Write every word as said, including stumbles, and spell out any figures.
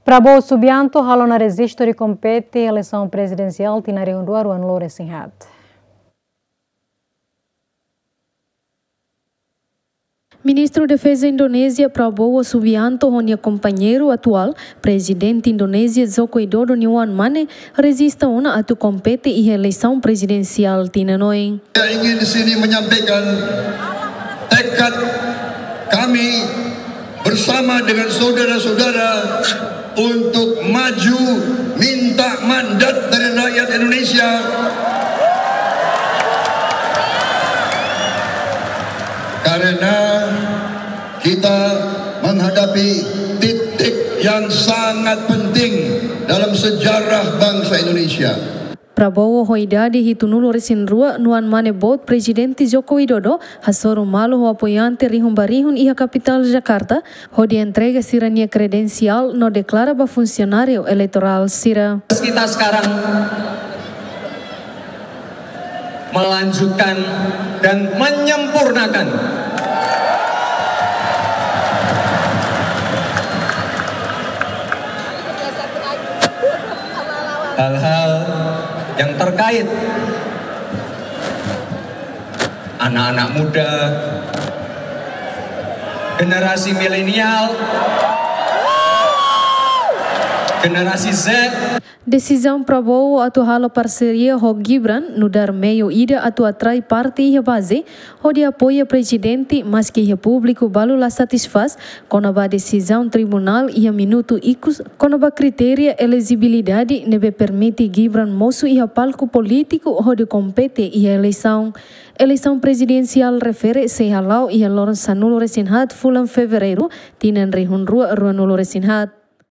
Prabowo Subianto halo ona rejistu de kompete eleisaun prezidensiál tinan rihun rua ruanulu resin haat. Ministru Defeza Indonézia Prabowo Subianto ho nia kompañeiru atuál, Prezidente Indonézia Joko Widodo nia oan-mane, rejista ona atu kompete iha eleisaun prezidensiál tinan oin. Saya ingin di sini menyampaikan tekad kami bersama dengan saudara-saudara untuk maju minta mandat dari rakyat Indonesia. Karena kita menghadapi titik yang sangat penting dalam sejarah bangsa Indonesia. Prabowo ho idade hitunulu resin rua nia oan-mane boot Prezidente Joko Widodo hasoru malu ho apoiante rihun ba rihun iha kapitál Jakarta, hodi entrega sira-nia kredensiál no deklara ba funsionáriu eleitorál sira. Kita sekarang melanjutkan dan menyempurnakan hal-hal yang terkait anak-anak muda, generasi milenial, generasi Z. Desizaun Prabowo atu halo parseria ho Gibran nu'udar meiu ida atu atrai parte iha baze, hodi apoia prezidente, maski iha públiku balu la satisfás kona-ba desizaun tribunál iha minutu ikus kona-ba kritéria elejibilidade ne'ebé permite Gibran mosu iha palku polítiku hodi kompete iha eleisaun. Eleisaun prezidensiál refere sei hala'o iha loron sanulu resin haat fulan Fevereiru, tinan rihun rua ruanulu resin haat.